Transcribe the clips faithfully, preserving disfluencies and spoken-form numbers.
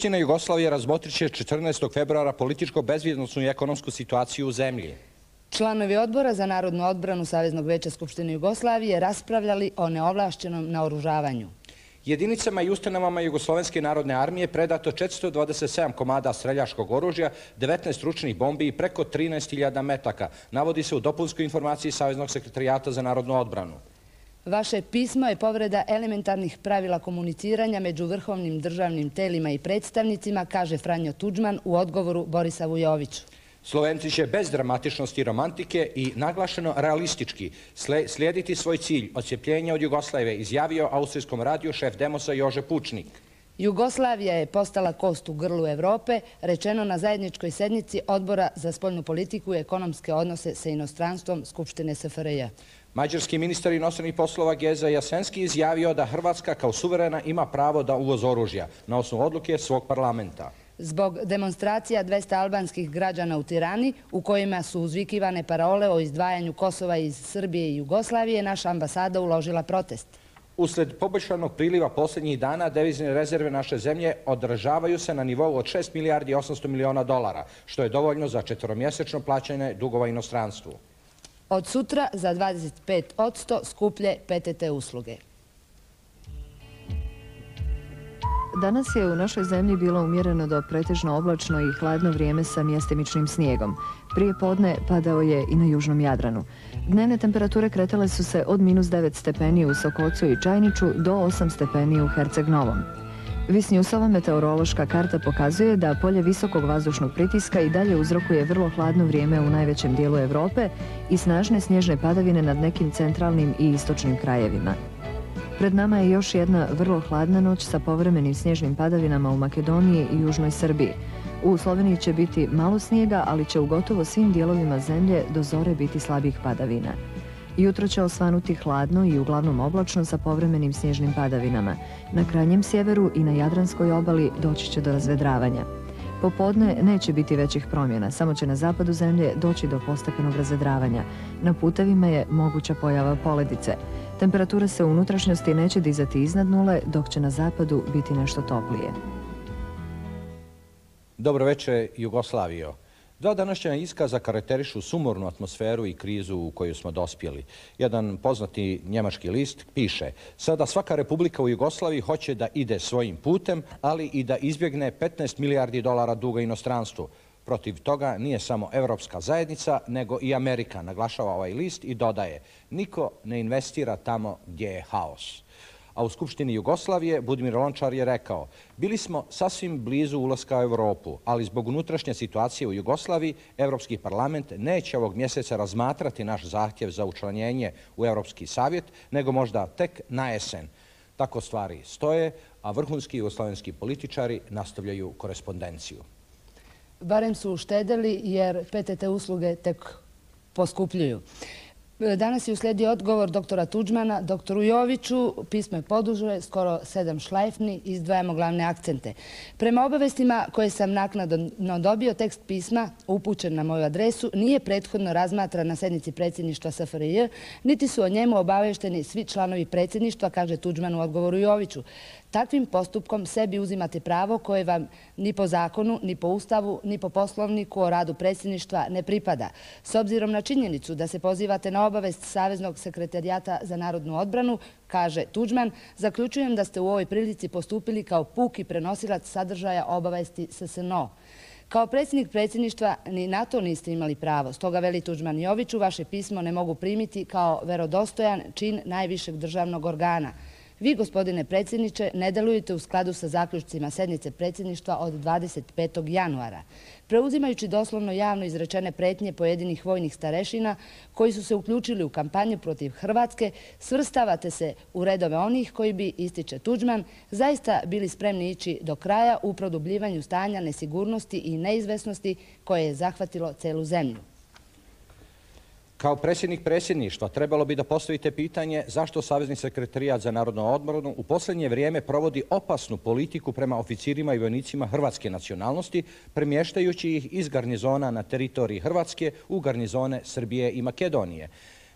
Skupština Jugoslavije razmotrit će četrnaestog februara političko-bezbjednosnu i ekonomsku situaciju u zemlji. Članovi Odbora za narodnu odbranu Saveznog veća Skupštine Jugoslavije raspravljali o neovlašćenom naoružavanju. Jedinicama i ustanovama Jugoslovenske narodne armije predato četiristo dvadeset sedam komada streljačkog oružja, devetnaest ručnih bombi i preko trinaest hiljada metaka, navodi se u dopunskoj informaciji Saveznog sekretarijata za narodnu odbranu. Vaše pismo je povreda elementarnih pravila komuniciranja među vrhovnim državnim telima i predstavnicima, kaže Franjo Tudžman u odgovoru Borisa Vujoviću. Slovenci će bez dramatičnosti i romantike i naglašeno realistički slijediti svoj cilj odcjepljenja od Jugoslavije, izjavio austrijskom radiju šef Demosa Jože Pučnik. Jugoslavija je postala kost u grlu Evrope, rečeno na zajedničkoj sednici Odbora za spoljnu politiku i ekonomske odnose sa inostranstvom Skupštine S F R J. Mađarski ministar inostranih poslova Geza Jasenski izjavio da Hrvatska kao suverena ima pravo da uvoz oružja na osnovu odluke svog parlamenta. Zbog demonstracija dvesta albanskih građana u Tirani, u kojima su uzvikivane parole o izdvajanju Kosova iz Srbije i Jugoslavije, naša ambasada uložila protest. Usled poboljšanog priliva posljednjih dana, devizne rezerve naše zemlje održavaju se na nivou od šest milijardi i osamsto miliona dolara, što je dovoljno za četveromjesečno plaćanje dugova inostranstvu. Od sutra za dvadeset pet posto skuplje P T T usluge. Danas je u našoj zemlji bilo umjereno do pretežno oblačno i hladno vrijeme sa mjestimičnim snijegom. Prije podne padao je i na južnom Jadranu. Dnevne temperature kretale su se od minus devet stepeni u Sokocu i Čajniču do osam stepeni u Herceg Novom. Visnjusova meteorološka karta pokazuje da polje visokog vazdušnog pritiska i dalje uzrokuje vrlo hladno vrijeme u najvećem dijelu Europe i snažne snježne padavine nad nekim centralnim i istočnim krajevima. Pred nama je još jedna vrlo hladna noć sa povremenim snježnim padavinama u Makedoniji i južnoj Srbiji. U Sloveniji će biti malo snijega, ali će u gotovo svim dijelovima zemlje do zore biti slabih padavina. Jutro će osvanuti hladno i uglavnom oblačno sa povremenim snježnim padavinama. Na krajnjem sjeveru i na Jadranskoj obali doći će do razvedravanja. Popodne neće biti većih promjena, samo će na zapadu zemlje doći do postepenog razvedravanja. Na putevima je moguća pojava poledice. Temperatura se u unutrašnjosti neće dizati iznad nule, dok će na zapadu biti nešto toplije. Dobro večer, Jugoslavijo. Dva današnja iskaza karakterišu sumornu atmosferu i krizu u koju smo dospjeli. Jedan poznati njemački list piše: sada svaka republika u Jugoslaviji hoće da ide svojim putem, ali i da izbjegne petnaest milijardi dolara duga inostranstvu. Protiv toga nije samo Evropska zajednica, nego i Amerika, naglašava ovaj list i dodaje: niko ne investira tamo gdje je haos. A u Skupštini Jugoslavije Budimir Lončar je rekao: bili smo sasvim blizu ulaska u Europu, ali zbog unutrašnje situacije u Jugoslaviji Europski parlament neće ovog mjeseca razmatrati naš zahtjev za učlanjenje u Europski savjet, nego možda tek na jesen. Tako stvari stoje, a vrhunski jugoslavenski političari nastavljaju korespondenciju. Barem su uštedeli jer P T T usluge tek poskupljuju. Danas je uslijedio odgovor doktora Tudžmana. Doktoru Joviću pismo je poduže, skoro sedam šlajfni, izdvajamo glavne akcente. Prema obavestima koje sam naknadno dobio, tekst pisma upućen na moju adresu nije prethodno razmatran na sednici predsjedništva S F R J, niti su o njemu obavešteni svi članovi predsjedništva, kaže Tudžman u odgovoru Joviću. Takvim postupkom sebi uzimate pravo koje vam ni po zakonu, ni po Ustavu, ni po poslovniku o radu predsjedništva ne pripada. S obzirom na činjenicu da se pozivate na obavest Saveznog sekretarijata za narodnu odbranu, kaže Tudžman, zaključujem da ste u ovoj prilici postupili kao puki prenosilac sadržaja obavesti S S N O. Kao predsjednik predsjedništva ni na to niste imali pravo. Stoga, veli Tudžman Joviću, vaše pismo ne mogu primiti kao verodostojan čin najvišeg državnog organa. Vi, gospodine predsjedniče, ne delujete u skladu sa zaključcima sednice predsjedništva od dvadeset petog januara. Preuzimajući doslovno javno izrečene pretnje pojedinih vojnih starešina koji su se uključili u kampanju protiv Hrvatske, svrstavate se u redove onih koji bi, ističe Tudžman, zaista bili spremni ići do kraja u produbljivanju stanja nesigurnosti i neizvesnosti koje je zahvatilo celu zemlju. Kao predsjednik predsjedništva trebalo bi da postavite pitanje zašto Savezni sekretarijat za narodnu odbranu u posljednje vrijeme provodi opasnu politiku prema oficirima i vojnicima hrvatske nacionalnosti, premještajući ih iz garnizona na teritoriji Hrvatske u garnizone Srbije i Makedonije.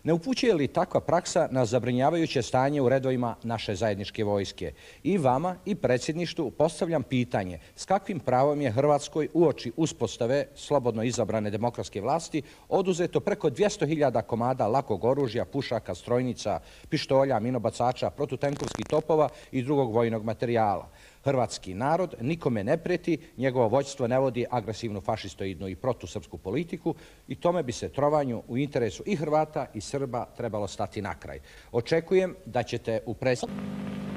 Ne upućuje li takva praksa na zabrinjavajuće stanje u redovima naše zajedničke vojske? I vama i predsjedništvu postavljam pitanje s kakvim pravom je Hrvatskoj uoči uspostave slobodno izabrane demokratske vlasti oduzeto preko dvjesto hiljada komada lakog oružja, pušaka, strojnica, pištolja, minobacača, protutenkovskih topova i drugog vojnog materijala. Hrvatski narod nikome ne prijeti, njegovo vođstvo ne vodi agresivnu fašistoidnu i protusrpsku politiku i tome bi se trovanju u interesu i Hrvata i Srba trebalo stati na kraj. Očekujem da ćete u predsjedništvu